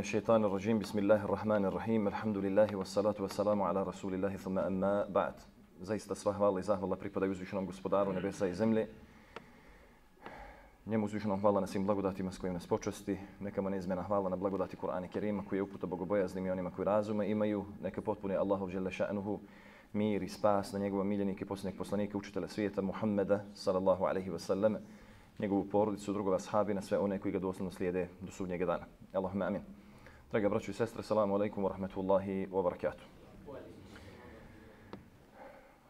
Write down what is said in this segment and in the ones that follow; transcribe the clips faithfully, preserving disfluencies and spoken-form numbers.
من الشيطان الرجيم بسم الله الرحمن الرحيم الحمد لله والصلاة والسلام على رسول الله ثم أما بعد. Zaista sva hvala i zahvala pripadaju uzvišenom gospodaru nebesa i zemlje. Njemu uzvišenom hvala na svim blagodatima s kojim nas počasti. Neka mu neizmjena hvala na blagodati Kur'ana Kerima koji je uputa bogobojaznim i onima koji razume imaju. Neka potpuni Allahov dželle ša'nuhu mir i spas na njegova miljenike, posljednjeg poslanika, učitelja svijeta Muhammeda sallallahu alaihi wa sallam, njegovu porodicu, drugova ashabi, na sve one koji ga doslovno slijede do sudnjega dana. Allahumma amin. Draga braćo i sestre, salamu alaikum wa rahmatullahi wa barakatuh.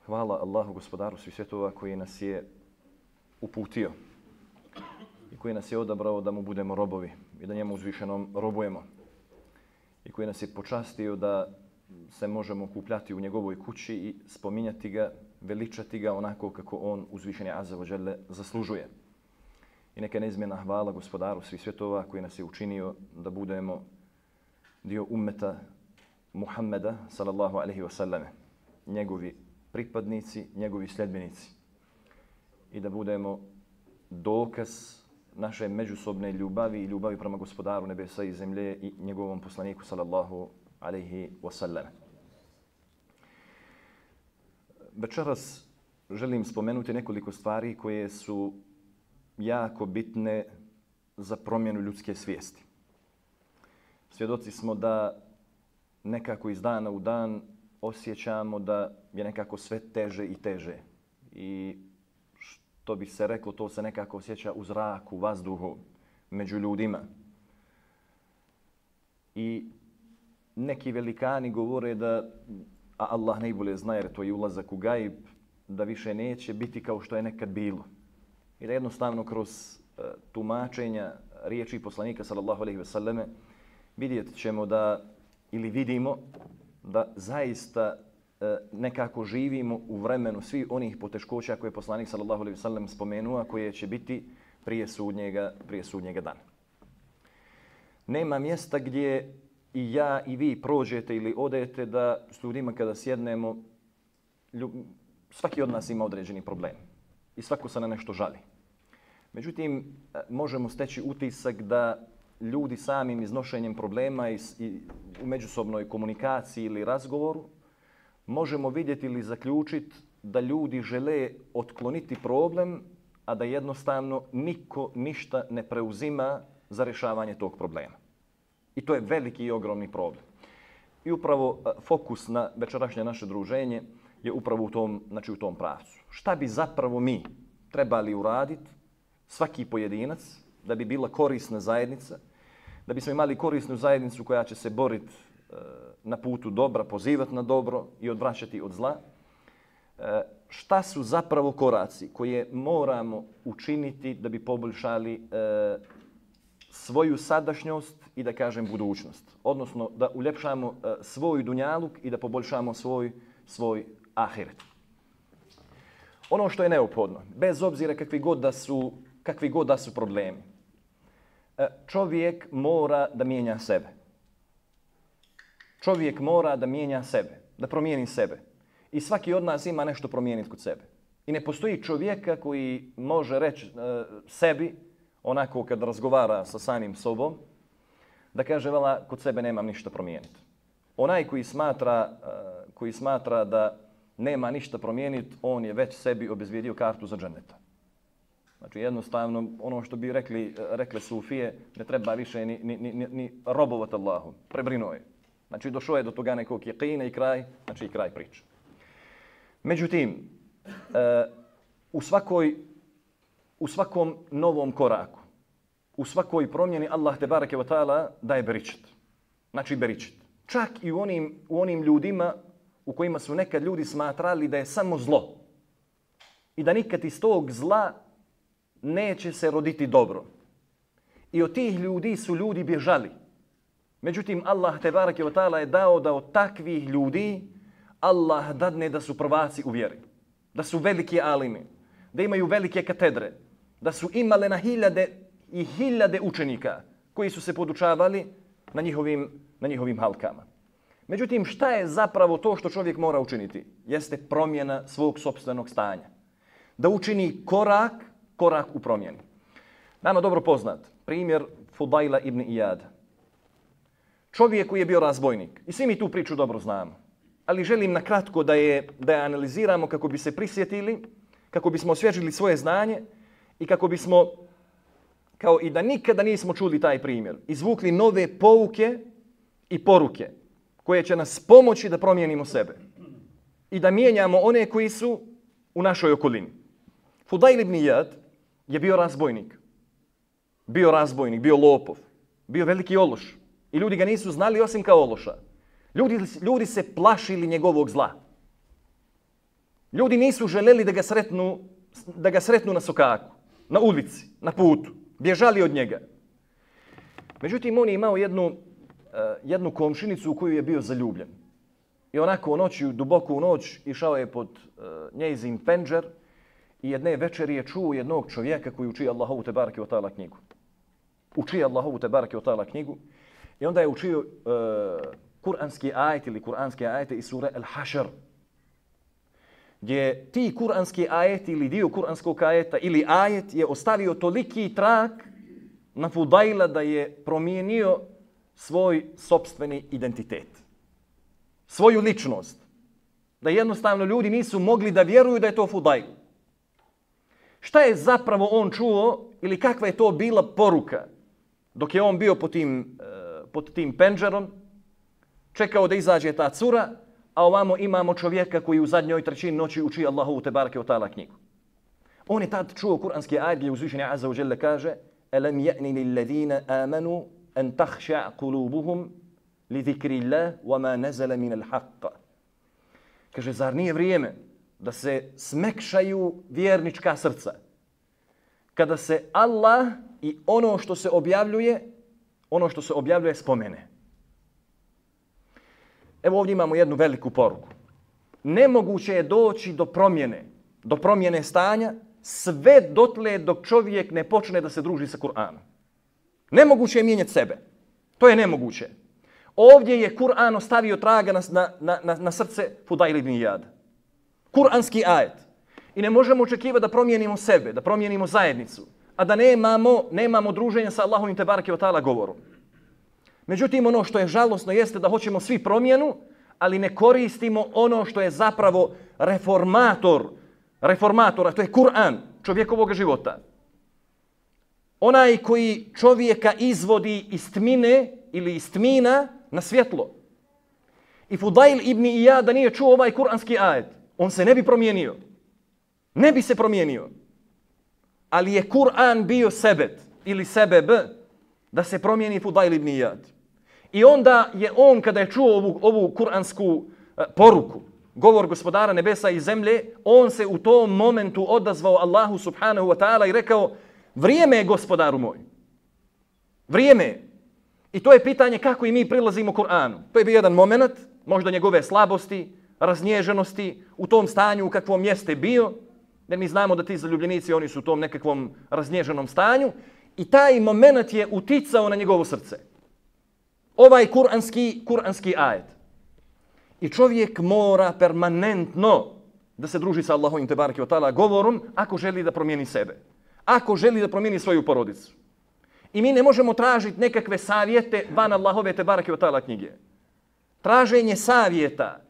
Hvala Allahu gospodaru svih svjetova koji nas je uputio i koji nas je odabrao da mu budemo robovi i da njemu uzvišenom robujemo i koji nas je počastio da se možemo okupljati u njegovoj kući i spominjati ga, veličati ga onako kako on uzvišeni azza wa dželle zaslužuje. I neka neizmjena hvala gospodaru svih svjetova koji nas je učinio da budemo dio ummeta Muhammeda sallallahu alaihi wa sallam, njegovi pripadnici, njegovi sljedbenici i da budemo dokaz naše međusobne ljubavi i ljubavi prema gospodaru nebesa i zemlje i njegovom poslaniku sallallahu alaihi wa sallam. Večeras želim spomenuti nekoliko stvari koje su jako bitne za promjenu ljudske svijesti. Svjedoci smo da nekako iz dana u dan osjećamo da je nekako sve teže i teže. I što bi se reklo, to se nekako osjeća u zraku, vazduhu, među ljudima. I neki velikani govore da, a Allah najbolje zna jer to je ulazak u gajb, da više neće biti kao što je nekad bilo. I da jednostavno kroz uh, tumačenja riječi poslanika sallallahu alejhi ve selleme vidjet ćemo da, ili vidimo da zaista uh, nekako živimo u vremenu svih onih poteškoća koje je poslanik sallallahu alejhi ve sellem spomenuo, koje će biti prije sudnjega, prije sudnjega dana. Nema mjesta gdje i ja i vi prođete ili odete da s ljudima kada sjednemo, ljub... svaki od nas ima određeni problem i svako se na nešto žali. Međutim, možemo steći utisak da ljudi samim iznošenjem problema i, i u međusobnoj komunikaciji ili razgovoru možemo vidjeti ili zaključiti da ljudi žele otkloniti problem, a da jednostavno niko ništa ne preuzima za rješavanje tog problema. I to je veliki i ogromni problem. I upravo fokus na večerašnje naše druženje je upravo u tom, znači u tom pravcu. Šta bi zapravo mi trebali uraditi, svaki pojedinac, da bi bila korisna zajednica, da bismo imali korisnu zajednicu koja će se boriti e, na putu dobra, pozivati na dobro i odvraćati od zla. E, šta su zapravo koraci koje moramo učiniti da bi poboljšali e, svoju sadašnjost i da kažem budućnost. Odnosno da uljepšamo e, svoj dunjaluk i da poboljšamo svoj, svoj ahiret. Ono što je neophodno, bez obzira kakvi god da su, kakvi god da su problemi, čovjek mora da mijenja sebe. Čovjek mora da mijenja sebe, da promijeni sebe. I svaki od nas ima nešto promijeniti kod sebe. I ne postoji čovjeka koji može reći uh, sebi, onako kad razgovara sa samim sobom, da kaže, vala, kod sebe nemam ništa promijeniti. Onaj koji smatra, uh, koji smatra da nema ništa promijeniti, on je već sebi obezbijedio kartu za dženneta. Znači jednostavno ono što bi rekli, rekle sufije, ne treba više ni, ni, ni, ni robovati Allahu, prebrinuo je. Znači došao je do toga nekog jekina i kraj, znači i kraj priče. Međutim, uh, u, svakoj, u svakom novom koraku, u svakoj promjeni Allah te bareke ve taala daje beričet. Znači beričet. Čak i u onim, u onim ljudima u kojima su nekad ljudi smatrali da je samo zlo i da nikad iz tog zla neće se roditi dobro. I od tih ljudi su ljudi bježali. Međutim, Allah te bareke ve taala je dao da od takvih ljudi Allah dadne da su prvaci u vjeri, da su veliki alimi, da imaju velike katedre, da su imale na hiljade i hiljade učenika koji su se podučavali na njihovim, na njihovim halkama. Međutim, šta je zapravo to što čovjek mora učiniti? Jeste promjena svog sopstvenog stanja. Da učini korak, korak u promjeni. Nama dobro poznat primjer Fudaila ibn Iyada. čovjek koji je bio razbojnik. I svi mi tu priču dobro znamo. Ali želim na kratko da je, da je analiziramo kako bi se prisjetili, kako bismo osvježili svoje znanje i kako bismo, kao i da nikada nismo čuli taj primjer, izvukli nove pouke i poruke koje će nas pomoći da promijenimo sebe i da mijenjamo one koji su u našoj okolini. Fudail ibn Iyad je bio razbojnik. Bio razbojnik, bio lopov, bio veliki ološ. I ljudi ga nisu znali osim kao ološa. Ljudi, ljudi se plašili njegovog zla. Ljudi nisu želeli da ga sretnu, da ga sretnu na sokaku, na ulici, na putu. Bježali od njega. Međutim, on je imao jednu, uh, jednu komšinicu u koju je bio zaljubljen. I onako u noći, duboko u noć, išao je pod uh, njezin penđer i jedne večeri je čuo jednog čovjeka koji uči Allahovu tebareke ve ta'ala knjigu. Uči Allahovu tebareke ve ta'ala knjigu i onda je učio uh, kuranski ajet ili kuranske ajete iz sure Al-Hašr, gdje ti kuranski ajeti ili dio kuranskog ajeta ili ajet je ostavio toliki trag na Fudaila da je promijenio svoj sopstveni identitet. Svoju ličnost. Da jednostavno ljudi nisu mogli da vjeruju da je to Fudail. Šta je zapravo on čuo ili kakva je to bila poruka dok je on bio pod tim, pod tim penđerom, čekao da izađe ta cura, a ovamo imamo čovjeka koji u zadnjoj trećini noći uči Allahovu tebareke ve ta'ala knjigu. On je tad čuo kuranski ajet gdje uzvišeni Azza wa Jalla kaže: "Alam ya'ni lil ladina amanu an takhsha qulubuhum li zikrillah wa ma nazala min al-haqq." Kaže, zar nije vrijeme da se smekšaju vjernička srca kada se Allah i ono što se objavljuje, ono što se objavljuje spomene. Evo ovdje imamo jednu veliku poruku. Nemoguće je doći do promjene, do promjene stanja sve dotle dok čovjek ne počne da se druži sa Kur'anom. Nemoguće je mijenjati sebe. To je nemoguće. Ovdje je Kur'an ostavio traga na, na, na, na srce Fudail ibn Iyada. Kur'anski ajet. I ne možemo očekivati da promijenimo sebe, da promijenimo zajednicu, a da nemamo, nemamo druženja sa Allahovim tebareke ve ta'ala govorom. Međutim, ono što je žalosno jeste da hoćemo svi promjenu, ali ne koristimo ono što je zapravo reformator, reformatora, to je Kur'an, čovjekovog života. Onaj koji čovjeka izvodi iz tmine ili iz tmina na svjetlo. I Fudail ibn Iyad da nije čuo ovaj kuranski ajet, on se ne bi promijenio. Ne bi se promijenio. Ali je Kur'an bio sebet ili sebeb da se promijeni Fudail ibn Iyad. I onda je on, kada je čuo ovu, ovu kuransku uh, poruku, govor gospodara nebesa i zemlje, on se u tom momentu odazvao Allahu subhanahu wa ta'ala i rekao: vrijeme je, gospodaru moj. Vrijeme je. I to je pitanje kako i mi prilazimo Kur'anu. To je bio jedan moment, možda njegove slabosti, raznježenosti, u tom stanju u kakvom jeste bio, jer mi znamo da ti zaljubljenici, oni su u tom nekakvom raznježenom stanju, i taj moment je uticao na njegovo srce. Ovaj kuranski, kuranski ajet. I čovjek mora permanentno da se druži sa Allahovim tebareke ve ta'ala govorom ako želi da promijeni sebe. Ako želi da promijeni svoju porodicu. I mi ne možemo tražiti nekakve savjete van Allahove tebareke ve ta'ala knjige. Traženje savjeta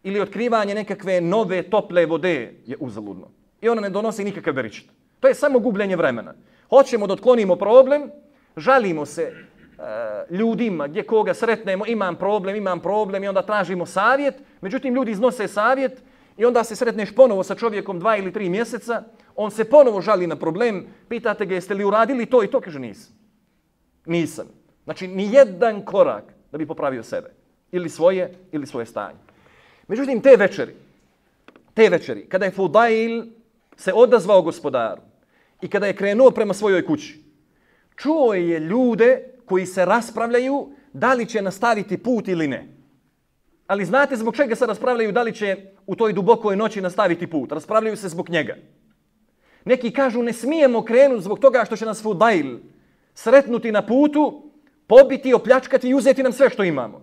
ili otkrivanje nekakve nove tople vode je uzaludno. I ona ne donosi nikakav beričet. To je samo gubljenje vremena. Hoćemo da otklonimo problem, žalimo se uh, ljudima gdje koga sretnemo, imam problem, imam problem i onda tražimo savjet. Međutim, ljudi iznose savjet i onda se sretneš ponovo sa čovjekom dva ili tri mjeseca, on se ponovo žali na problem, pitate ga jeste li uradili to i to, kaže nisam. Nisam. Znači, ni jedan korak da bi popravio sebe. Ili svoje, ili svoje stanje. Međutim, te večeri, te večeri, kada je Fudail se odazvao gospodaru i kada je krenuo prema svojoj kući, čuo je ljude koji se raspravljaju da li će nastaviti put ili ne. Ali znate zbog čega se raspravljaju da li će u toj dubokoj noći nastaviti put? Raspravljaju se zbog njega. Neki kažu ne smijemo krenuti zbog toga što će nas Fudail sretnuti na putu, pobiti, opljačkati i uzeti nam sve što imamo.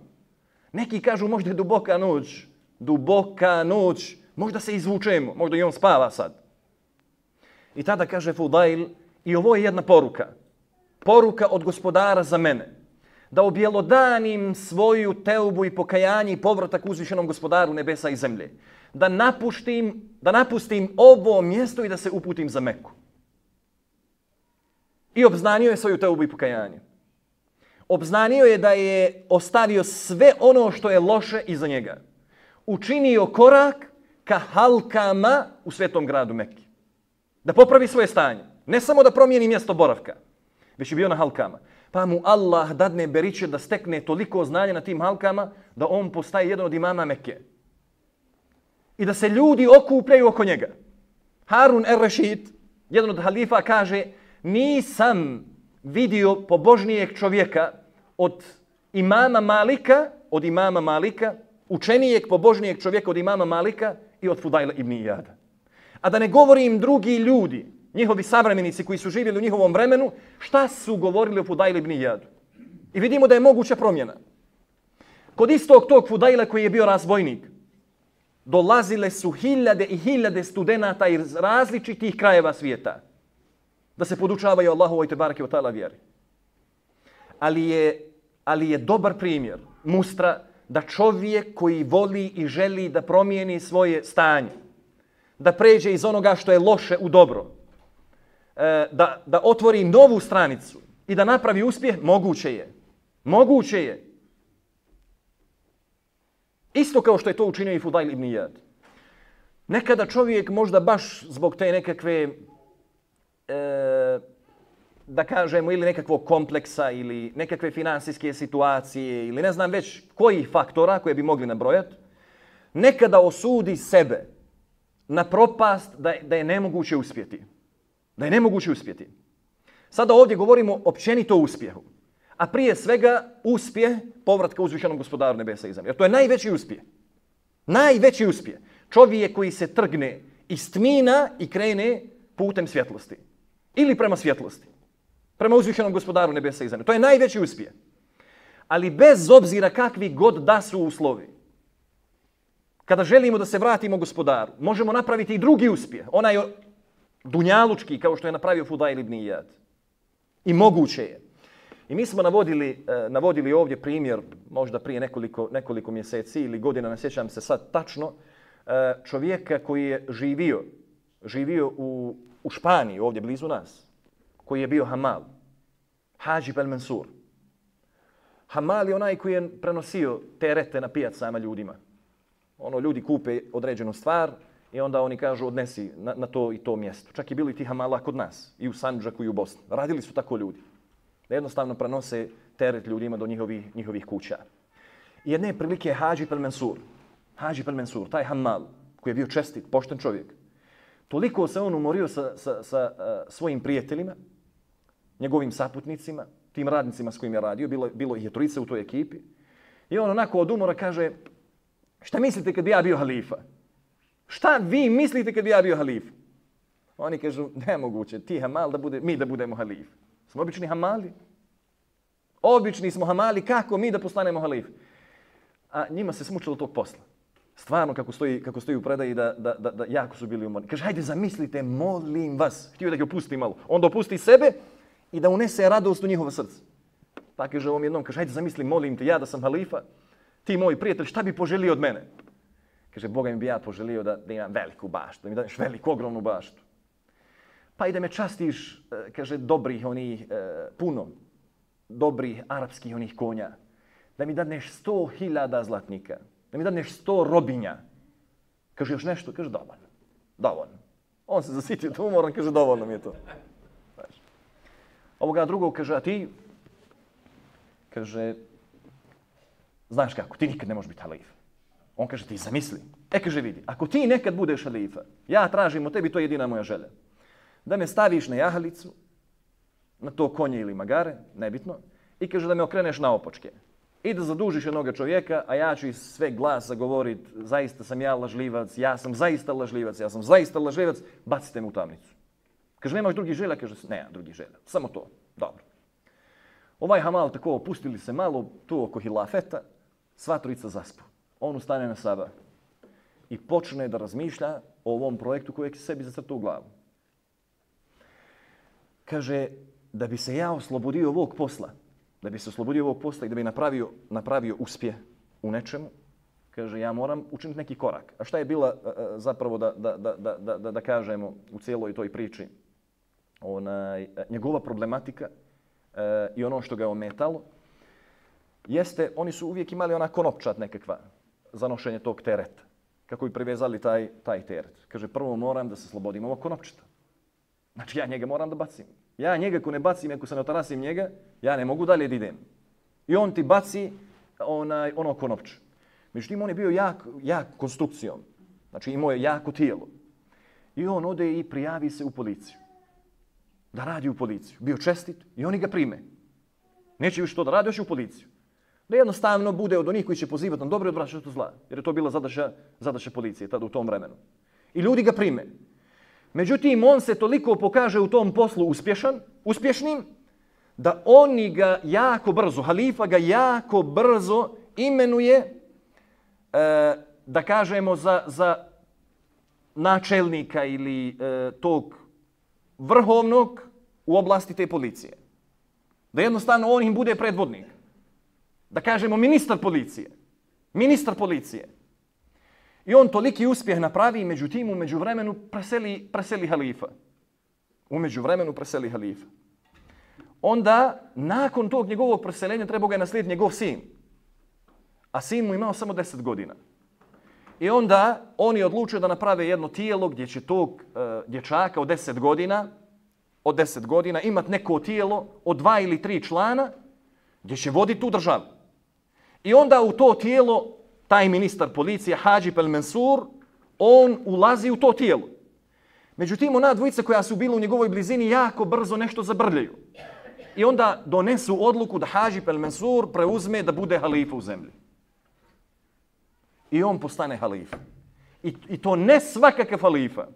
Neki kažu možda je duboka noć, duboka noć, možda se izvučemo, možda i on spava sad. I tada kaže Fudail, i ovo je jedna poruka. Poruka od gospodara za mene. da objelodanim svoju teubu i pokajanje i povratak uzvišenom gospodaru nebesa i zemlje. Da napustim, da napustim ovo mjesto i da se uputim za Meku. I obznanio je svoju teubu i pokajanje. Obznanio je da je ostavio sve ono što je loše iza njega. Učinio korak ka halkama u svetom gradu Mekki. Da popravi svoje stanje. Ne samo da promijeni mjesto boravka, već je bio na halkama. Pa mu Allah dadne beriče da stekne toliko znanja na tim halkama da on postaje jedan od imama Mekke. I da se ljudi okupljaju oko njega. Harun er-Rešid, jedan od halifa, kaže: nisam vidio pobožnijeg čovjeka od imama Malika, od imama Malika, učenijeg pobožnijeg čovjeka od imama Malika i od Fudajla ibn Iyada. A da ne govorim drugi ljudi, njihovi savremenici koji su živjeli u njihovom vremenu, šta su govorili o Fudajlu ibn Iyadu. I vidimo da je moguća promjena. Kod istog tog Fudajla koji je bio razbojnik, dolazile su hiljade i hiljade studenata iz različitih krajeva svijeta da se podučavaju Allahovoj tebareke ve taala vjeri. Ali je, ali je dobar primjer mustra da čovjek koji voli i želi da promijeni svoje stanje, da pređe iz onoga što je loše u dobro, da, da otvori novu stranicu i da napravi uspjeh, moguće je. Moguće je. Isto kao što je to učinio i Fudajl ibn Iyad. Nekada čovjek možda baš zbog te nekakve, e, da kažemo, ili nekakvog kompleksa ili nekakve finansijske situacije ili ne znam već kojih faktora koje bi mogli nabrojati, nekada osudi sebe na propast da, da je nemoguće uspjeti. Da je nemoguće uspjeti. Sada ovdje govorimo općenito o uspjehu. A prije svega uspjeh povratka uzvišenom gospodaru nebesa i zemlje. Jer to je najveći uspjeh. Najveći uspjeh. Čovjek koji se trgne iz tmina i krene putem svjetlosti. Ili prema svjetlosti. Prema uzvišenom gospodaru nebesa i zemlje. To je najveći uspjeh. Ali bez obzira kakvi god da su uslovi, kada želimo da se vratimo gospodaru, možemo napraviti i drugi uspjeh. Onaj dunjalučki, kao što je napravio Fudajl ibn Iyad. I moguće je. I mi smo navodili, navodili ovdje primjer, možda prije nekoliko, nekoliko mjeseci ili godina, ne sjećam se sad tačno, čovjeka koji je živio, živio u, u Španiji, ovdje blizu nas, koji je bio hamal. Hadžib el-Mansur. Hamal je onaj koji je prenosio terete na pijacama ljudima. Ono, ljudi kupe određenu stvar i onda oni kažu odnesi na, na to i to mjesto. Čak i bili ti hamala kod nas, i u Sandžaku i u Bosni. Radili su tako ljudi. Da jednostavno prenose teret ljudima do njihovih, njihovih kuća. I jedne prilike je Hadžib el-Mansur. Hadžib el-Mansur, taj hamal, koji je bio čestit, pošten čovjek. Toliko se on umorio sa, sa, sa uh, svojim prijateljima, njegovim saputnicima, tim radnicima s kojim je radio, bilo, bilo ih je trojica u toj ekipi. I on onako od umora kaže: šta mislite kad bi ja bio halifa? Šta vi mislite kad bi ja bio halif? Oni kažu: nemoguće, ti hamal da bude, mi da budemo halif. Smo obični hamali. Obični smo hamali, kako mi da postanemo halif? A njima se smučilo tog posla. Stvarno, kako stoji, kako stoji u predaji, da, da, da, da jako su bili umorni. Kaže: hajde zamislite, molim vas. Htio da ga opusti malo. Onda opusti sebe i da unese radost u njihovo srce. Pa kaže ovom jednom, kaže: hajde zamisli, molim te, ja da sam halifa, ti moj prijatelj, šta bi poželio od mene? Kaže: Boga mi bi ja poželio da, da imam veliku baštu, da mi daš veliku, ogromnu baštu. Pa i da me častiš, kaže, dobrih onih, puno, dobrih arapskih onih konja. Da mi dadneš sto hiljada zlatnika. Da mi dadneš sto robinja. Kaže: još nešto? Kaže: dovoljno. Dovoljno. On se zasitio to umoran, kaže: dovoljno mi je to. Znači. Ovoga drugog kaže: a ti? Kaže: znaš kako, ti nikad ne možeš biti halif. On kaže: ti zamisli. E, kaže, vidi, ako ti nekad budeš halifa, ja tražim od tebi, to je jedina moja želja. Da me staviš na jahalicu, na to konje ili magare, nebitno, i kaže da me okreneš na opočke. I da zadužiš jednoga čovjeka, a ja ću iz sve glasa govorit: zaista sam ja lažljivac, ja sam zaista lažljivac, ja sam zaista lažljivac, bacite me u tamnicu. Kaže: nemaš drugih želja? Kaže: nema drugih želja, samo to. Dobro. Ovaj hamal tako opustili se malo tu oko hilafeta, sva trojica zaspu. On ustane na sabah i počne da razmišlja o ovom projektu kojeg sebi zacrtao u glavu. Kaže: da bi se ja oslobodio ovog posla, da bi se oslobodio ovog posta i da bi napravio, napravio uspjeh u nečemu, kaže, ja moram učiniti neki korak. A šta je bila zapravo, da, da, da, da, da, da kažemo, u cijeloj toj priči, onaj, njegova problematika e, i ono što ga je ometalo, jeste, oni su uvijek imali ona konopčat nekakva za nošenje tog tereta. Kako bi privezali taj, taj teret. Kaže, prvo moram da se slobodim ovog konopčata. Znači, ja njega moram da bacim. Ja njega, ako ne bacim, ako se ne otarasim njega, ja ne mogu dalje da idem. I on ti baci onaj, ono konopče. Međutim, on je bio jak, jak konstrukcijom. Znači, imao je jako tijelo. I on ode i prijavi se u policiju. Da radi u policiju. Bio čestit i oni ga prime. Neće više to da radi, još u policiju. Da jednostavno bude od onih koji će pozivati na dobro i odvraćati od zla. Jer je to bila zadaća, zadaća policije tada u tom vremenu. I ljudi ga prime. Međutim, on se toliko pokaže u tom poslu uspješan, uspješnim, da oni ga jako brzo, halifa ga jako brzo imenuje, e, da kažemo, za, za načelnika ili e, tog vrhovnog u oblasti te policije. Da jednostavno on im bude predvodnik. Da kažemo ministar policije. Ministar policije. I on toliki uspjeh napravi, međutim u međuvremenu preseli, preseli halifa. U međuvremenu preseli halifa. Onda, nakon tog njegovog preseljenja, trebao ga je naslijediti njegov sin. A sin mu imao samo deset godina. I onda oni odlučuju da naprave jedno tijelo gdje će tog uh, dječaka od deset godina, od deset godina imati neko tijelo od dva ili tri člana gdje će voditi tu državu. I onda u to tijelo taj ministar policije, Hadžib el-Mansur, on ulazi u to tijelo. Međutim, ona dvojica koja su bili u njegovoj blizini jako brzo nešto zabrljaju. I onda donesu odluku da Hadžib el-Mansur preuzme da bude halifa u zemlji. I on postane halifa. I, i to ne svakakav halifa,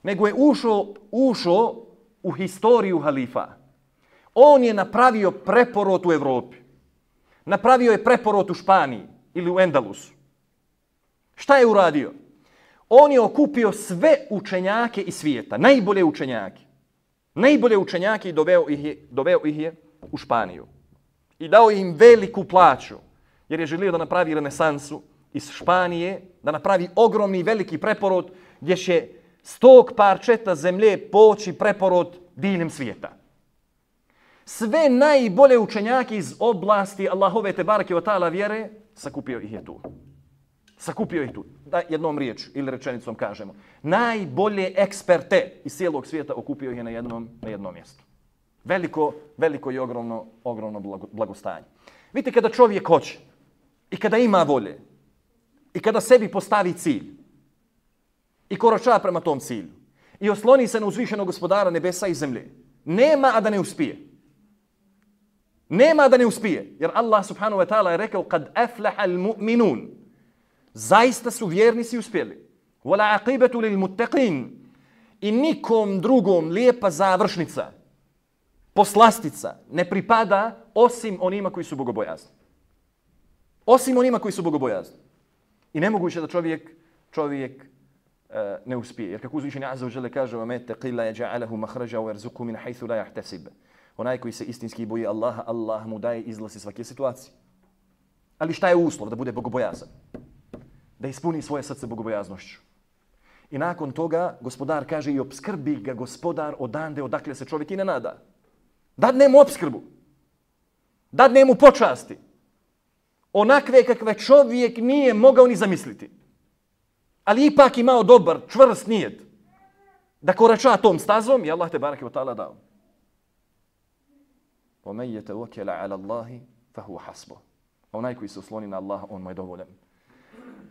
nego je ušao, ušao u historiju halifa. On je napravio preporod u Evropi. Napravio je preporod u Španiji ili u Endalusu. Šta je uradio? On je okupio sve učenjake iz svijeta, najbolje učenjake. Najbolje učenjake i doveo ih je, doveo ih je u Španiju. I dao im veliku plaću, jer je želio da napravi renesansu iz Španije, da napravi ogromni i veliki preporod gdje će s tog parčeta zemlje poći preporod diljem svijeta. Sve najbolje učenjake iz oblasti Allahove tebareke ve taala vjere sakupio ih je tu. Sakupio ih tu. Da jednom riječju ili rečenicom kažemo. Najbolje eksperte iz cijelog svijeta okupio ih je na jednom, na jednom mjestu. Veliko, veliko i ogromno, ogromno blagostanje. Vidite, kada čovjek hoće i kada ima volje i kada sebi postavi cilj i korača prema tom cilju i osloni se na uzvišenog gospodara nebesa i zemlje, nema a da ne uspije. Nema da ne uspije. Jer Allah subhanahu wa ta'ala je rekao kad aflaha al-mu'minun. Zaista su vjernici uspjeli. Wala aqibatu lil muttaqin. I nikom drugom lijepa završnica, poslastica ne pripada osim onima koji su bogobojazni. Osim onima koji su bogobojazni. I nemoguće da čovjek, čovjek uh, ne uspije. Jer kako uzvišeni azza wa jalla kaže wa man taqilla yaj'alahu makhraja wa yarzuqhu min haythu la yahtasib. Onaj koji se istinski boji Allaha, Allah mu daje izlaz iz svake situacije. Ali šta je uslov? Da bude bogobojazan. Da ispuni svoje srce bogobojaznošću. I nakon toga gospodar kaže i obskrbi ga gospodar odande odakle se čovjek i ne nada. Dadne mu obskrbu. Dadne mu počasti. Onakve kakve čovjek nije mogao ni zamisliti. Ali ipak imao dobar, čvrst nijet. Da korača tom stazom i Allah te bareke ve taala dao. وَمَنْ يَتَوَكَّلَ عَلَى اللَّهِ فَهُوَ حَسْبُهُ. Onaj koji se osloni na Allaha, on mu je dovoljan.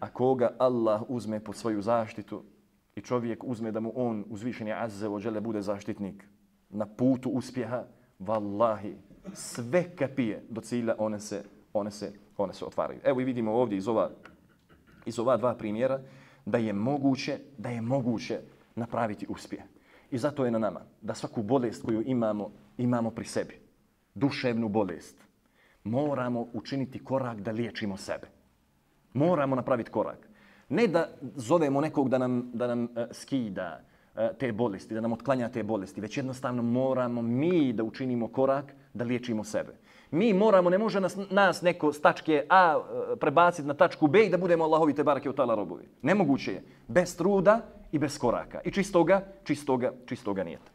A koga Allah uzme pod svoju zaštitu i čovjek uzme da mu on uzvišeni azze wa dželle bude zaštitnik na putu uspjeha, vallahi, sve kapije do cilja, one se, one se, one se otvaraju. Evo i vidimo ovdje iz ova, iz ova dva primjera da je moguće, da je moguće napraviti uspjeh. I zato je na nama da svaku bolest koju imamo, imamo pri sebi. Duševnu bolest. Moramo učiniti korak da liječimo sebe. Moramo napraviti korak. Ne da zovemo nekog da nam, da nam uh, skida uh, te bolesti, da nam otklanja te bolesti, već jednostavno moramo mi da učinimo korak da liječimo sebe. Mi moramo, ne može nas, nas neko s tačke A prebaciti na tačku B i da budemo Allahovi te barake u ta'ala robovi. Nemoguće je. Bez truda i bez koraka. I čistoga, čistoga, čistoga nijeta.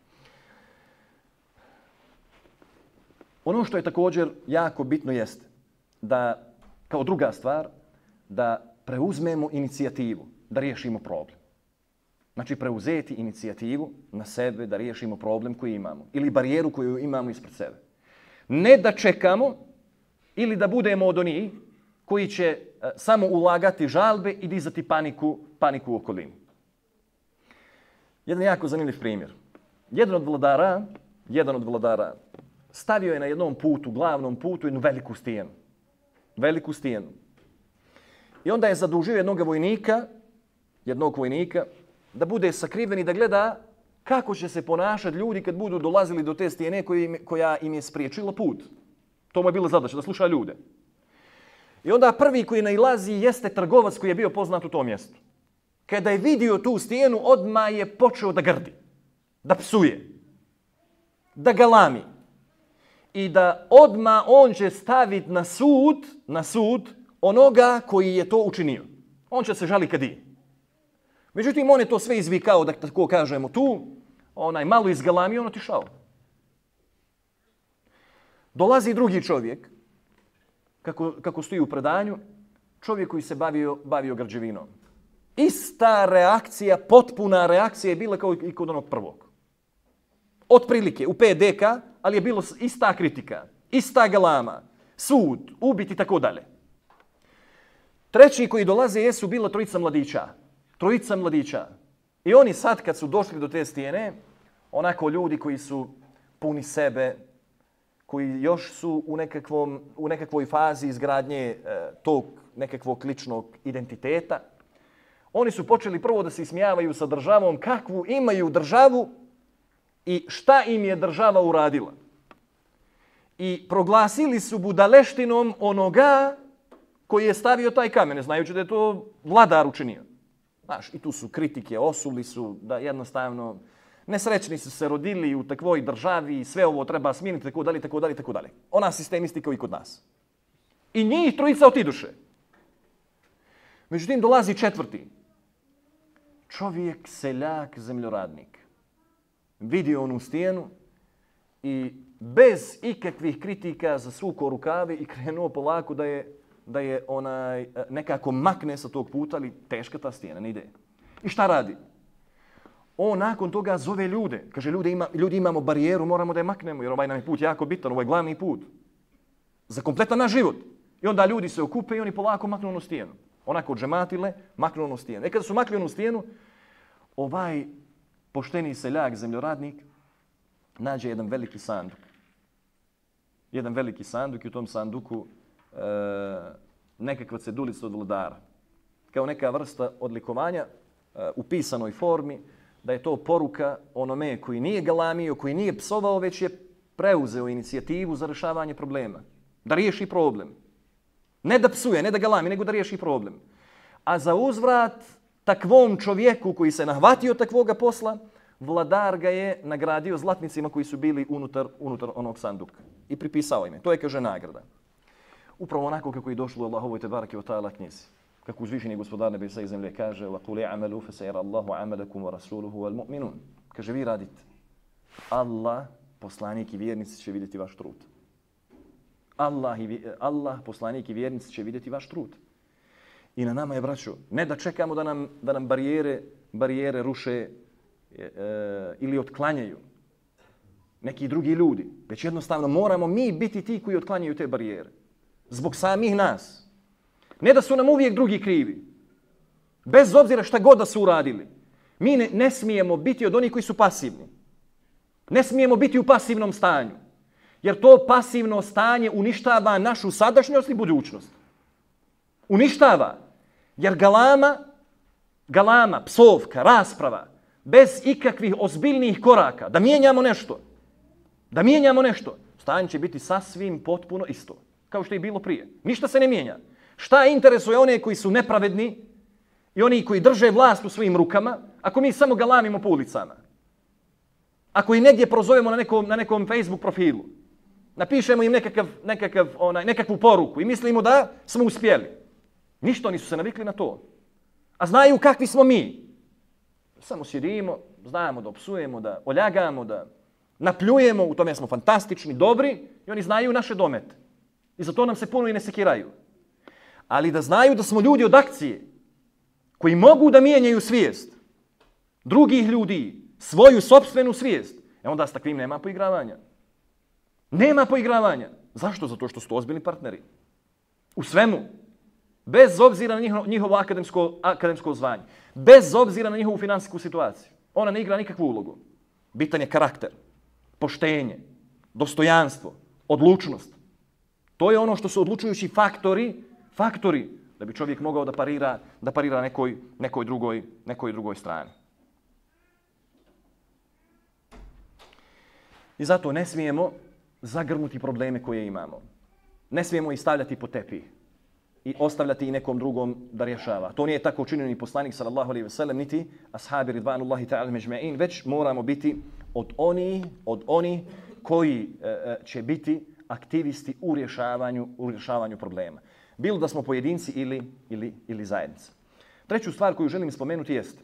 Ono što je također jako bitno jeste da, kao druga stvar, da preuzmemo inicijativu, da riješimo problem. Znači preuzeti inicijativu na sebe da riješimo problem koji imamo ili barijeru koju imamo ispred sebe. Ne da čekamo ili da budemo od onih koji će samo ulagati žalbe i dizati paniku, paniku u okolini. Jedan jako zanimljiv primjer. Jedan od vladara, jedan od vladara stavio je na jednom putu, glavnom putu, jednu veliku stijenu. Veliku stijenu. I onda je zadužio jednog vojnika, jednog vojnika, da bude sakriven i da gleda kako će se ponašati ljudi kad budu dolazili do te stijene koja im je spriječila put. To mu je bila zadaća, da sluša ljude. I onda prvi koji nailazi jeste trgovac koji je bio poznat u tom mjestu. Kada je vidio tu stijenu, odmah je počeo da grdi, da psuje, da galami. I da odmah on će staviti na sud, na sud onoga koji je to učinio. On će se žali kad je. Međutim, on je to sve izvikao, da tako kažemo tu, onaj malo izgalamio, on otišao. Dolazi drugi čovjek, kako, kako stoji u predanju, čovjek koji se bavio, bavio građevinom. Ista reakcija, potpuna reakcija je bila kao i kod onog prvog. Otprilike, u pet deka, ali je bilo ista kritika, ista galama, sud, ubiti i tako dalje. Treći koji dolaze jesu bila trojica mladića. Trojica mladića. I oni sad kad su došli do te stijene, onako ljudi koji su puni sebe, koji još su u, nekakvom, u nekakvoj fazi izgradnje e, tog nekakvog ličnog identiteta, oni su počeli prvo da se ismijavaju sa državom, kakvu imaju državu i šta im je država uradila. I proglasili su budaleštinom onoga koji je stavio taj kamen, znajući da je to vladar učinio. Znaš, i tu su kritike, osuli su da jednostavno nesrećni su se rodili u takvoj državi i sve ovo treba smijeniti, tako dalje, tako dalje, tako dalje. Ona sistemisti kao i kod nas. I njih trojica otiduše. Međutim, dolazi četvrti. Čovjek, seljak, zemljoradnik. Vidio onu stijenu i bez ikakvih kritika zasukao rukave i krenuo polako da je da je onaj nekako makne sa tog puta, ali teška ta stijena, ne ide. I šta radi? On nakon toga zove ljude. Kaže, ljudi, ima, ljudi imamo barijeru, moramo da je maknemo, jer ovaj nam je put jako bitan, ovaj je glavni put. Za kompletan naš život. I onda ljudi se okupe i oni polako maknu onu stijenu. Onako džematile, maknu onu stijenu. E kada su makli onu stijenu, ovaj pošteni seljak, zemljoradnik, nađe jedan veliki sanduk. Jedan veliki sanduk i u tom sanduku E, nekakva cedulica od vladara. Kao neka vrsta odlikovanja e, u pisanoj formi, da je to poruka onome koji nije galamio, koji nije psovao, već je preuzeo inicijativu za rješavanje problema. Da riješi problem. Ne da psuje, ne da galami, nego da riješi problem. A za uzvrat takvom čovjeku koji se nahvatio takvoga posla, vladar ga je nagradio zlatnicima koji su bili unutar, unutar onog sanduka. I pripisao ime. To je, kaže, nagrada. Upravo onako kako je došlo u Allahovoj te barake u ta'ala knjizi. Kako uzvišeni gospodar nebesa i zemlje kaže وَقُلِ عَمَلُوا فَسَيَرَ اللَّهُ عَمَلَكُمْ وَرَسُولُهُ وَالْمُؤْمِنُونَ. Kaže, vi radite. Allah, poslanik i vjernici će vidjeti vaš trud. Allah, i, Allah, poslanik i vjernici će vidjeti vaš trud. I na nama je, braćo, ne da čekamo da nam, da nam barijere, barijere ruše e, e, ili otklanjaju neki drugi ljudi. Već jednostavno moramo mi biti ti koji otklanjaju te barijere. Zbog samih nas. Ne da su nam uvijek drugi krivi. Bez obzira šta god da su uradili. Mi ne, ne smijemo biti od onih koji su pasivni. Ne smijemo biti u pasivnom stanju. Jer to pasivno stanje uništava našu sadašnjost i budućnost. Uništava. Jer galama, galama, psovka, rasprava, bez ikakvih ozbiljnih koraka, da mijenjamo nešto, da mijenjamo nešto, stanje će biti sasvim potpuno isto. Kao što je bilo prije. Ništa se ne mijenja. Šta interesuje one koji su nepravedni i oni koji drže vlast u svojim rukama, ako mi samo galamimo po ulicama? Ako ih negdje prozovemo na nekom, na nekom Facebook profilu? Napišemo im nekakav, nekakav, onaj, nekakvu poruku i mislimo da smo uspjeli. Ništa, oni su se navikli na to. A znaju kakvi smo mi. Samo sjedimo, znamo da opsujemo, da oljagamo, da napljujemo, u tome smo fantastični, dobri i oni znaju naše domete. I zato nam se puno i ne sekiraju. Ali da znaju da smo ljudi od akcije, koji mogu da mijenjaju svijest drugih ljudi, svoju sopstvenu svijest, e onda s takvim nema poigravanja. Nema poigravanja. Zašto? Zato što su to ozbiljni partneri. U svemu. Bez obzira na njihovo, njihovo akademsko, akademsko zvanje. Bez obzira na njihovu finansijsku situaciju. Ona ne igra nikakvu ulogu. Bitan je karakter, poštenje, dostojanstvo, odlučnost. To je ono što su odlučujući faktori, faktori da bi čovjek mogao da parira, da parira nekoj, nekoj, drugoj, nekoj drugoj strani. I zato ne smijemo zagrnuti probleme koje imamo. Ne smijemo ih stavljati po tepih i ostavljati i nekom drugom da rješava. To nije tako učinio ni poslanik sallallahu alejhi ve sellem niti ashabi ridvanullahi ta'ala međma'in, već moramo biti od oni, od oni koji e, će biti aktivisti u rješavanju, u rješavanju problema. Bilo da smo pojedinci ili, ili, ili zajednica. Treću stvar koju želim spomenuti jest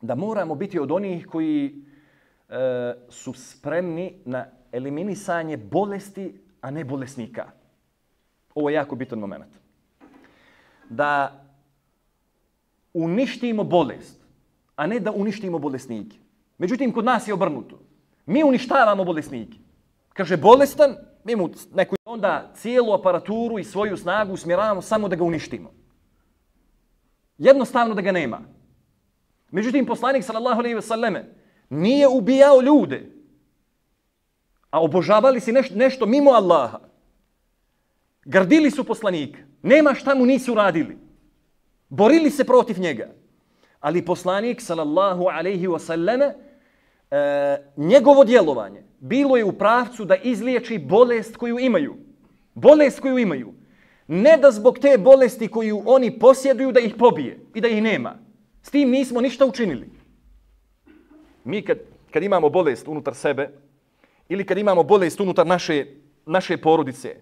da moramo biti od onih koji e, su spremni na eliminisanje bolesti, a ne bolesnika. Ovo je jako bitan moment. Da uništimo bolest, a ne da uništimo bolesnike. Međutim, kod nas je obrnuto. Mi uništavamo bolesnike. Kaže, bolestan, mi mu neku onda cijelu aparaturu i svoju snagu usmjeravamo samo da ga uništimo. Jednostavno da ga nema. Međutim, poslanik sallallahu alejhi ve selleme nije ubijao ljude, a obožavali si nešto, nešto mimo Allaha. Gardili su poslanika. Nema šta mu nisu radili. Borili se protiv njega. Ali poslanik sallallahu alejhi ve selleme e, njegovo djelovanje bilo je u pravcu da izliječi bolest koju imaju. Bolest koju imaju. Ne da zbog te bolesti koju oni posjeduju da ih pobije i da ih nema. S tim nismo ništa učinili. Mi kad, kad imamo bolest unutar sebe ili kad imamo bolest unutar naše, naše porodice,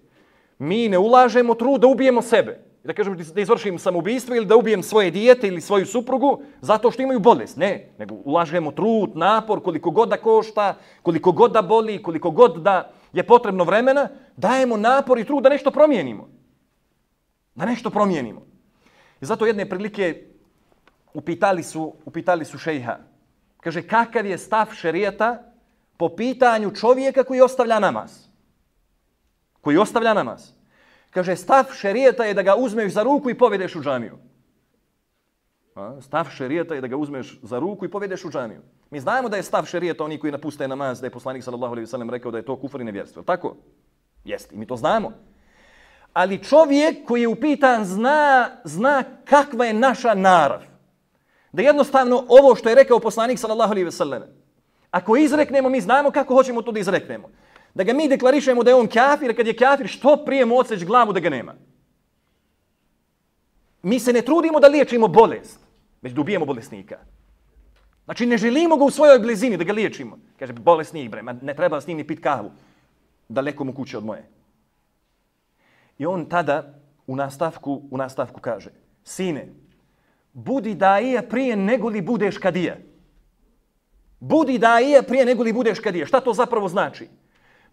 mi ne ulažemo trud da ubijemo sebe. Da kažem da izvršim samoubistvo ili da ubijem svoje dijete ili svoju suprugu zato što imaju bolest. Ne, nego ulažemo trud, napor, koliko god da košta, koliko god da boli, koliko god da je potrebno vremena, dajemo napor i trud da nešto promijenimo. Da nešto promijenimo. I zato jedne prilike upitali su, upitali su šejha. Kaže, kakav je stav šerijata po pitanju čovjeka koji ostavlja namaz? Koji ostavlja namaz. Kaže, stav šerijata je da ga uzmeš za ruku i povedeš u džamiju. A? Stav šerijata je da ga uzmeš za ruku i povedeš u džamiju. Mi znamo da je stav šerijata oni koji napuste namaz, da je poslanik sallallahu alejhi ve sellem rekao da je to kufr i nevjerstvo. Tako? Jeste, i mi to znamo. Ali čovjek koji je upitan zna, zna kakva je naša narav. Da jednostavno ovo što je rekao poslanik sallallahu alejhi ve sellem, ako izreknemo, mi znamo kako hoćemo to da izreknemo. Da ga mi deklarišemo da je on kafir, a kad je kafir, što prije mu odseć glavu da ga nema. Mi se ne trudimo da liječimo bolest, već da ubijemo bolesnika. Znači ne želimo ga u svojoj blizini da ga liječimo. Kaže, bolesnik bre, ne treba s njim ni pit kavu. Daleko mu kuće od moje. I on tada u nastavku, u nastavku kaže, sine, budi daija prije nego li budeš kadija. Budi daija prije nego li budeš kadija. Šta to zapravo znači?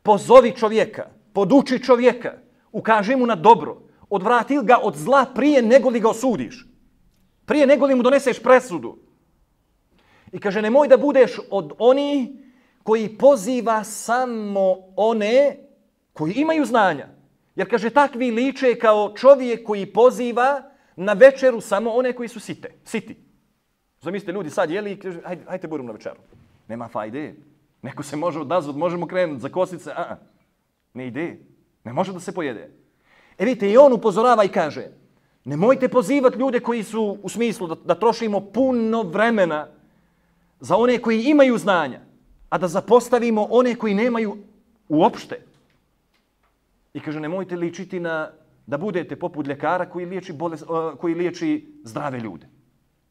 Pozovi čovjeka, poduči čovjeka, ukaži mu na dobro, odvrati ga od zla prije nego li ga osudiš. Prije nego li mu doneseš presudu. I kaže, nemoj da budeš od onih koji poziva samo one koji imaju znanja. Jer kaže, takvi liče kao čovjek koji poziva na večeru samo one koji su site, siti. Zamislite, ljudi sad jeli i kaže, hajde, hajde budemo na večeru. Nema fajde. Neko se može odazvat, možemo krenuti za kosice, a, a ne ide. Ne može da se pojede. E vidite, i on upozorava i kaže, nemojte pozivati ljude koji su u smislu da, da trošimo puno vremena za one koji imaju znanja, a da zapostavimo one koji nemaju uopšte. I kaže, nemojte ličiti na da budete poput ljekara koji liječi, bolest, uh, koji liječi zdrave ljude.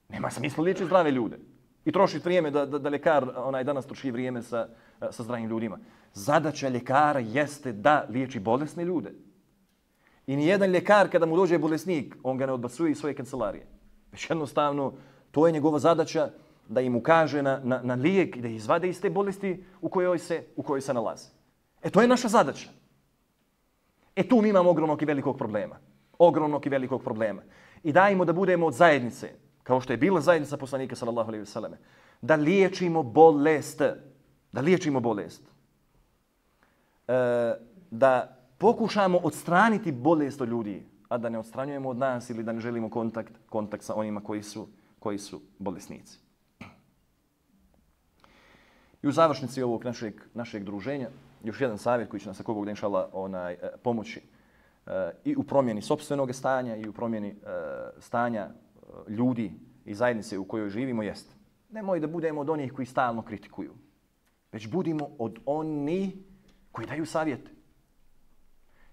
Nema smisla liječi zdrave ljude. i trošiti vrijeme da, da, da ljekar onaj danas troši vrijeme sa, sa zdravim ljudima. Zadaća ljekara jeste da liječi bolesne ljude. I nijedan ljekar kada mu dođe bolesnik, on ga ne odbacuje iz svoje kancelarije. Već jednostavno, to je njegova zadaća da im ukaže na, na, na lijek i da izvade iz te bolesti u kojoj se, u kojoj se nalaze. E to je naša zadaća. E tu mi imamo ogromnog i velikog problema. Ogromnog i velikog problema. I dajmo da budemo od zajednice, kao što je bila zajednica poslanika sallallahu alejhi ve selleme, da liječimo bolest. Da liječimo bolest. E, da pokušamo odstraniti bolest od ljudi, a da ne odstranjujemo od nas ili da ne želimo kontakt, kontakt sa onima koji su, koji su bolesnici. I u završnici ovog našeg, našeg druženja, još jedan savjet koji će nas ako Bog da inšallah onaj, pomoći e, i u promjeni sopstvenog stanja i u promjeni e, stanja e, ljudi i zajednice u kojoj živimo jest. Nemoj da budemo od onih koji stalno kritikuju, već budimo od onih koji daju savjete.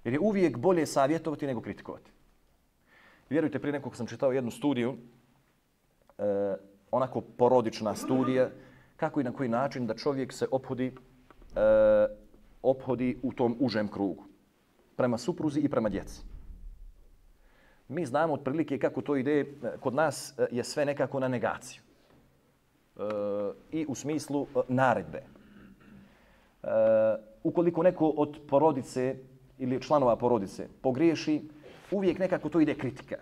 Jer je uvijek bolje savjetovati nego kritikovati. Vjerujte, prije nekog sam čitao jednu studiju, e, onako porodična studija, kako i na koji način da čovjek se ophodi, e, ophodi u tom užem krugu. Prema supruzi i prema djeci. Mi znamo otprilike kako to ide, kod nas je sve nekako na negaciju. E, I u smislu naredbe. E, ukoliko neko od porodice ili članova porodice pogriješi, uvijek nekako to ide kritika.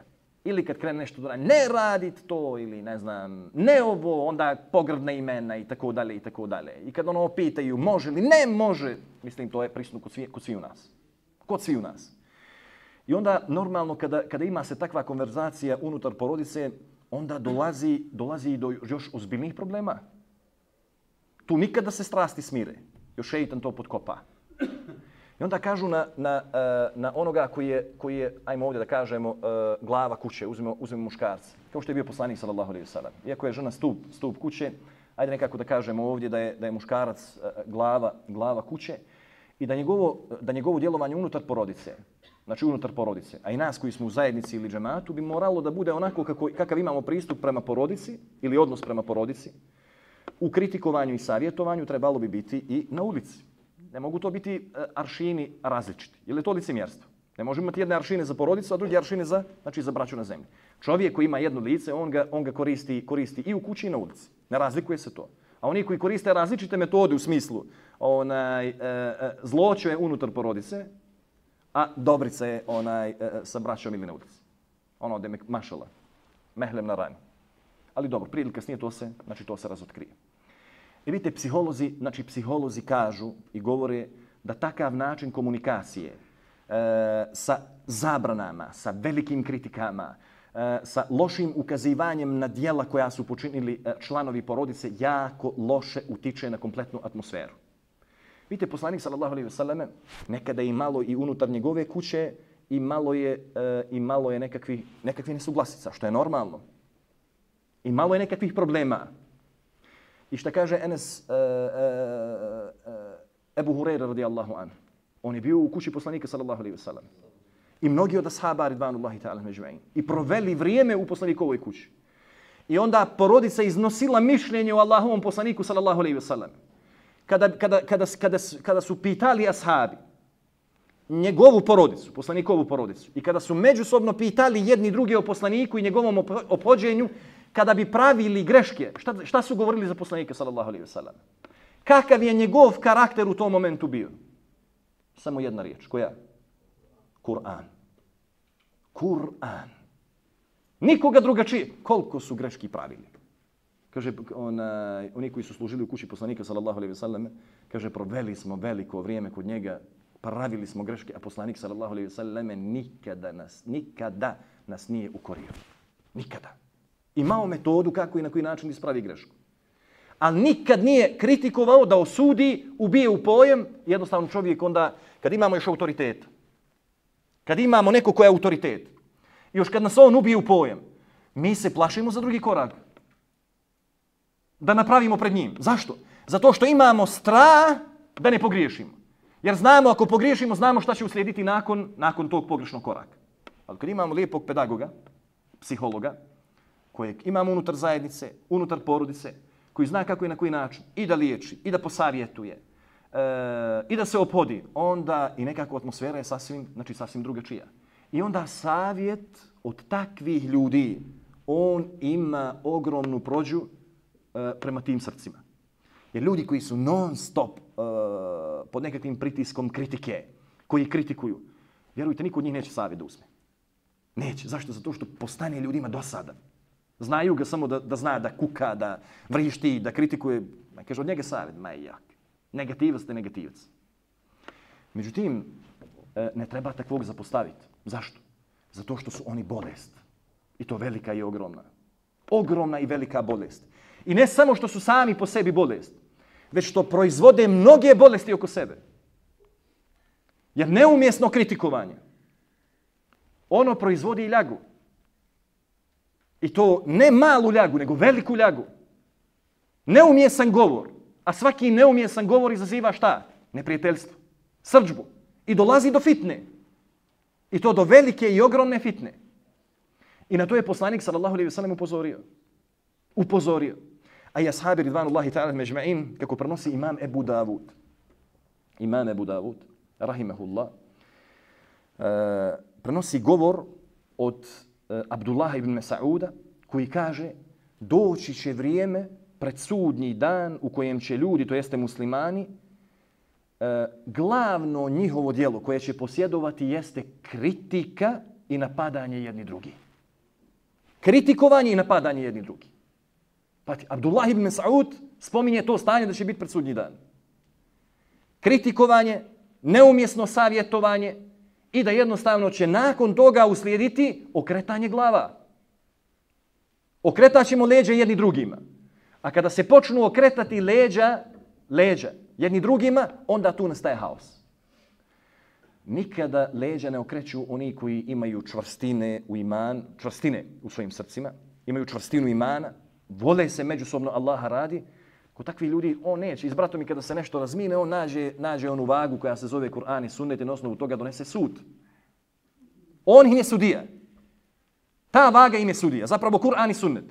Ili kad krene nešto da ne radit to, ili ne znam, ne ovo, onda pogrdna imena i tako dalje i tako dalje. I kad ono pitaju može li, ne može, mislim to je prisutno kod svi, kod svi u nas. Kod svi u nas. I onda normalno kada, kada ima se takva konverzacija unutar porodice, onda dolazi, dolazi do još ozbiljnih problema. Tu nikada se strasti smire. Još šeitan to potkopa. I onda kažu na, na, na onoga koji je, koji je, ajmo ovdje da kažemo, glava kuće, uzmemo, uzmemo muškarca. Kao što je bio poslanik sallallahu alejhi ve sellem. Iako je žena stup, stup kuće, ajde nekako da kažemo ovdje da je, da je muškarac glava, glava kuće i da njegovo, da njegovo djelovanje unutar porodice, znači unutar porodice, a i nas koji smo u zajednici ili džematu, bi moralo da bude onako kako, kakav imamo pristup prema porodici ili odnos prema porodici. U kritikovanju i savjetovanju trebalo bi biti i na ulici. Ne mogu to biti aršini različiti. Jer je to licemjerstvo. Ne možemo imati jedne aršine za porodicu, a druge aršine za, znači za braću na zemlji. Čovjek koji ima jedno lice, on ga, on ga koristi, koristi i u kući i na ulici. Ne razlikuje se to. A oni koji koriste različite metode u smislu onaj, e, e, zloće je unutar porodice, a dobrica je onaj, e, sa braćom ili na ulici. Ono da je mašala, mehlem na rani. Ali dobro, prije ili kasnije to se, znači to se razotkrije. I vidite, psiholozi, znači psiholozi kažu i govore da takav način komunikacije e, sa zabranama, sa velikim kritikama, e, sa lošim ukazivanjem na djela koja su počinili e, članovi porodice jako loše utiče na kompletnu atmosferu. Vidite, poslanik sallallahu alejhi ve selleme nekada je malo i unutar njegove kuće i malo je, e, i malo je nekakvih, nekakvih nesuglasica, što je normalno. I malo je nekakvih problema. I šta kaže Enes uh, uh, uh, Ebu Hureyre radijallahu anhu. On je bio u kući poslanika sallallahu alejhi ve sellem. I mnogi od ashaba ridvanullahi ta'ala međma'in. I proveli vrijeme u poslanikovoj kući. I onda porodica iznosila mišljenje o Allahovom poslaniku sallallahu alejhi ve sellem. Kada, kada, kada, kada, kada su pitali ashabi njegovu porodicu, poslanikovu porodicu, i kada su međusobno pitali jedni drugi o poslaniku i njegovom ophođenju, kada bi pravili greške, šta, šta su govorili za poslanika sallallahu alejhi ve sellem? Kakav je njegov karakter u tom momentu bio? Samo jedna riječ. Koja? Kur'an. Kur'an. Nikoga drugačije. Koliko su greški pravili? Kaže, onaj, oni koji su služili u kući poslanika sallallahu alejhi ve sellem, kaže, proveli smo veliko vrijeme kod njega, pravili smo greške, a poslanik sallallahu alejhi ve sellem nikada nas, nikada nas nije ukorio. Nikada. Imao metodu kako i na koji način ispravi grešku. Ali nikad nije kritikovao da osudi, ubije u pojem. Jednostavno čovjek onda, kad imamo još autoritet, kad imamo neko ko je autoritet, još kad nas on ubije u pojem, mi se plašimo za drugi korak. Da napravimo pred njim. Zašto? Zato što imamo strah da ne pogriješimo. Jer znamo, ako pogriješimo, znamo šta će uslijediti nakon, nakon tog pogrešnog koraka. Ali kad imamo lijepog pedagoga, psihologa, kojeg imamo unutar zajednice, unutar porodice, koji zna kako i na koji način i da liječi, i da posavjetuje, e, i da se ophodi, onda i nekako atmosfera je sasvim, znači sasvim drugačija. I onda savjet od takvih ljudi, on ima ogromnu prođu e, prema tim srcima. Jer ljudi koji su non stop e, pod nekakvim pritiskom kritike, koji kritikuju, vjerujte, niko od njih neće savjet da uzme. Neće. Zašto? Zato što postane ljudima dosadan. Znaju ga samo da, da zna da kuka, da vrišti, da kritikuje. Kaže, od njega savjet, ma jak. Negativac te negativac. Međutim, ne treba takvog zapostaviti. Zašto? Zato što su oni bolest. I to velika i ogromna. Ogromna i velika bolest. I ne samo što su sami po sebi bolest, već što proizvode mnoge bolesti oko sebe. Jer neumjesno kritikovanje, ono proizvodi i ljagu. I to ne malu ljagu, nego veliku ljagu. Neumjesan govor. A svaki neumjesan govor izaziva šta? Neprijateljstvo. Srdžbu. I dolazi do fitne. I to do velike i ogromne fitne. I na to je poslanik sallallahu alejhi ve sellem upozorio. Upozorio. A i ashabi ridvanullahi ta'ala međma'in, kako prenosi imam Ebu Davud. Imam Ebu Davud, rahimahullah, uh, prenosi govor od uh, Abdullaha ibn Mas'uda, koji kaže, doći će vrijeme pred sudnji dan u kojem će ljudi, to jeste muslimani, uh, glavno njihovo djelo koje će posjedovati jeste kritika i napadanje jedni drugi. Kritikovanje i napadanje jedni drugi. Pati, Abdullah ibn Mas'ud spominje to stanje da će biti pred sudnji dan. Kritikovanje, neumjesno savjetovanje i da jednostavno će nakon toga uslijediti okretanje glava. Okretaćemo leđa jedni drugima. A kada se počnu okretati leđa, leđa jedni drugima, onda tu nastaje haos. Nikada leđa ne okreću oni koji imaju čvrstine u iman, čvrstine u svojim srcima, imaju čvrstinu imana, vole se međusobno Allaha radi. Kod takvih ljudi on neće. S bratom i kada se nešto razmine, on nađe, nađe onu vagu koja se zove Kur'an i sunnet i na osnovu toga donese sud. On im je sudija. Ta vaga im je sudija. Zapravo Kur'an i sunnet.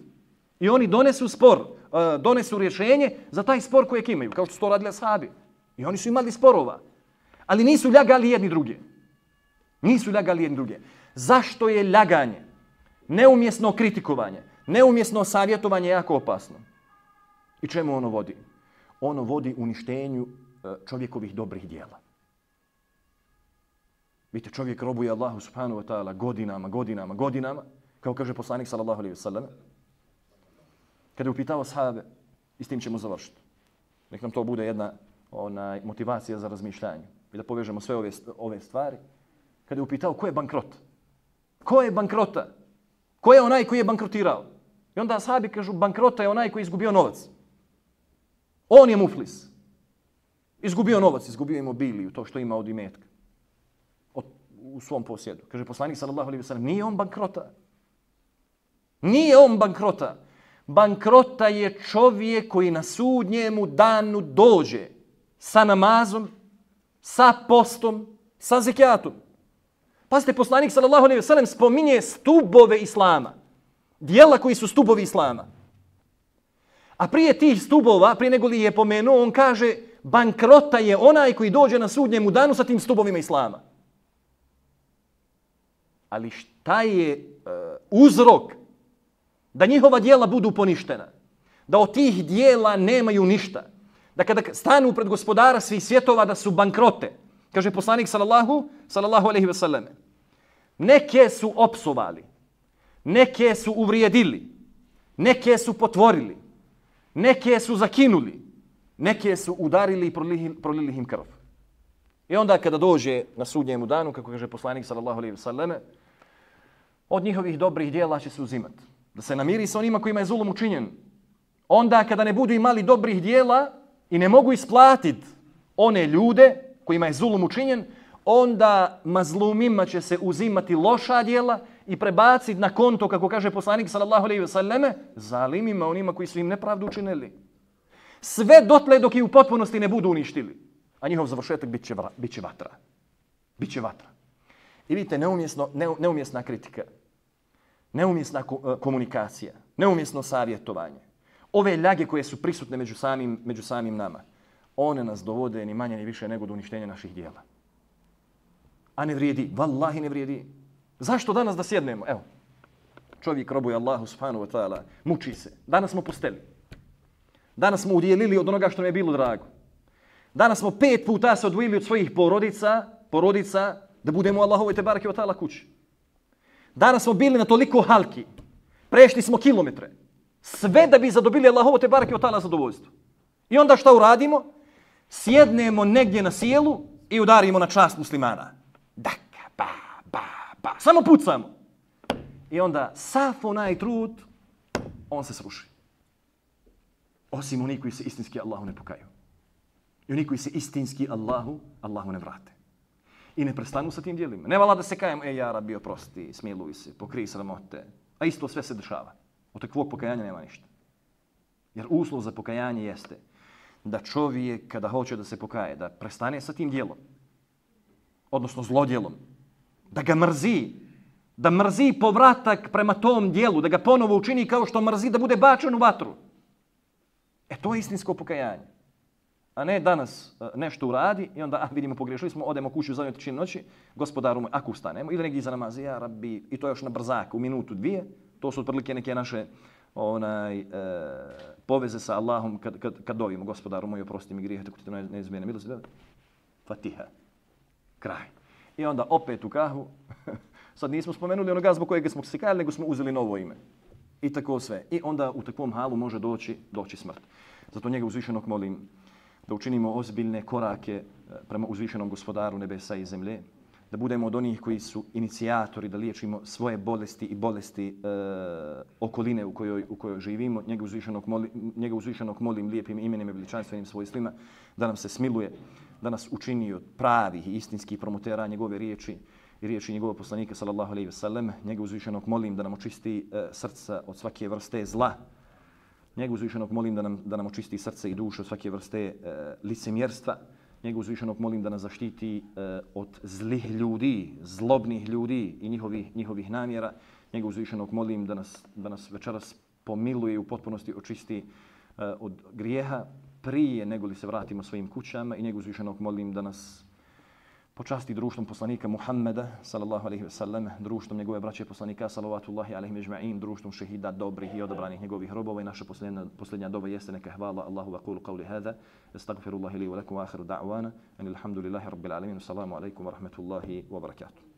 I oni donesu spor, uh, donesu rješenje za taj spor kojeg imaju, kao što su to radili ashabi. I oni su imali sporova. Ali nisu ljagali jedni druge. Nisu ljagali jedni druge. Zašto je ljaganje, neumjesno kritikovanje, neumjesno savjetovanje jako opasno? I čemu ono vodi? Ono vodi uništenju čovjekovih dobrih dijela. Vidite, čovjek robuje Allahu subhanahu wa ta'ala godinama, godinama, godinama, kao kaže poslanik sallallahu alejhi ve sellem. Kada je upitao sahabe, i s tim ćemo završiti. Nek nam to bude jedna onaj, motivacija za razmišljanje. I da povežemo sve ove, ove stvari. Kada je upitao ko je bankrot? Ko je bankrota? Ko je onaj koji je bankrotirao? I onda ashabi kažu bankrota je onaj koji je izgubio novac. On je muflis. Izgubio novac, izgubio imobiliju, to što ima od imetka. Od, u svom posjedu. Kaže poslanik sallallahu alejhi ve sellem, nije on bankrota. Nije on bankrota. Bankrota je čovjek koji na sudnjemu danu dođe sa namazom, sa postom, sa zekijatom. Pazite, poslanik sallallahu alejhi ve sellem spominje stubove islama. Dijela koji su stubovi islama. A prije tih stubova, prije nego li je pomenuo, on kaže bankrota je onaj koji dođe na sudnjemu danu sa tim stubovima islama. Ali šta je uh, uzrok da njihova dijela budu poništena? Da od tih dijela nemaju ništa. Da kada stanu pred gospodara svih svjetova da su bankrote. Kaže poslanik sallallahu, sallallahu alejhi ve sellem. Neke su opsovali, neke su uvrijedili, neke su potvorili, neke su zakinuli, neke su udarili i prolili, prolili im krv. I onda kada dođe na sudnjemu danu, kako kaže poslanik sallallahu alejhi ve sellem, od njihovih dobrih djela će se uzimati. Da se namiri sa onima kojima je zulum učinjen. Onda kada ne budu imali dobrih djela i ne mogu isplatiti one ljude kojima je zulum učinjen, onda mazlumima će se uzimati loša djela i prebaciti na konto, kako kaže poslanik sallallahu alejhi ve selleme, zalimima, onima koji su im nepravdu učinili. Sve dotle dok i u potpunosti ne budu uništili. A njihov završetak bit će, bit će vatra. Biće vatra. I vidite, neumjesno, ne, neumjesna kritika, neumjesna komunikacija, neumjesno savjetovanje. Ove ljage koje su prisutne među samim, među samim nama, one nas dovode ni manje ni više nego do uništenja naših dijela. A ne vrijedi, vallahi ne vrijedi. Zašto danas da sjednemo? Evo, čovjek robuje Allahu subhanahu wa ta'ala, muči se. Danas smo posteli. Danas smo udjelili od onoga što nam je bilo drago. Danas smo pet puta se odvojili od svojih porodica, porodica da budemo u Allahovoj te bareke wa ta'ala kući. Danas smo bili na toliko halki. Prešli smo kilometre. Sve da bi zadobili Allahovo te bareke wa ta'ala zadovoljstvo. I onda šta uradimo? Sjednemo negdje na sjelu i udarimo na čast muslimana. Daka, ba, ba, ba. Samo pucamo. I onda sav onaj trud, on se sruši. Osim oni koji se istinski Allahu ne pokaju. I oni koji se istinski Allahu, Allahu ne vrate. I ne prestanu sa tim djelima. Ne vala da se kajem, ej ja Rabbi oprosti, smiluj se, pokrij sramote. A isto sve se dešava. Od takvog pokajanja nema ništa. Jer uslov za pokajanje jeste da čovjek kada hoće da se pokaje, da prestane sa tim djelom, odnosno zlodjelom, da ga mrzi, da mrzi povratak prema tom djelu, da ga ponovo učini kao što mrzi da bude bačen u vatru. E to je istinsko pokajanje. A ne danas nešto uradi i onda, ah, vidimo, pogriješili smo, odemo kući u zadnjoj trećini noći, gospodaru moj, ako ustanemo, ili negdje iza namaze, ja Rabbi, i to još na brzak, u minutu, dvije, to su otprilike neke naše onaj, e, poveze sa Allahom kad, kad, kad dovimo, gospodaru moj, oprosti mi grijehe, tako ti to neizmjene milosti, da? Fatiha. Kraj. I onda opet u kahvu, sad nismo spomenuli onoga zbog kojeg smo se kajali, nego smo uzeli novo ime. I tako sve. I onda u takvom halu može doći, doći smrt. Zato njega uzvišenog molim da učinimo ozbiljne korake prema uzvišenom gospodaru nebesa i zemlje, da budemo od onih koji su inicijatori, da liječimo svoje bolesti i bolesti e, okoline u kojoj, u kojoj živimo. Njega uzvišenog, molim, njega uzvišenog molim lijepim imenim i veličanstvenim svojstvima da nam se smiluje, da nas učini od pravih i istinskih promotera njegove riječi i riječi njegovog poslanika sallallahu alejhi ve sellem. Njega uzvišenog molim da nam očisti e, srca od svake vrste zla. Njega uzvišenog molim da nam, da nam očisti srce i dušu od svake vrste e, licemjerstva. Njega uzvišenog molim da nas zaštiti e, od zlih ljudi, zlobnih ljudi i njihovih, njihovih namjera. Njega uzvišenog molim da nas, da nas večeras pomiluje i u potpunosti očisti e, od grijeha prije nego li se vratimo svojim kućama. I njega uzvišenog molim da nas počasti društvom poslanika Muhammeda, sallallahu alejhi ve sellem, društvom njegove braće poslanika, salavatullahi alejhim ejma'in, društvom šehida dobrih i odabranih njegovih robova. I naša posljednja, posljednja doba jeste neka hvala Allahu wa qulu qawli hada, astagfirullahi li wa lakum wa akhiru da'wana, anil hamdulillahi rabbil alamin, assalamu alaikum wa rahmatullahi wa barakatuh.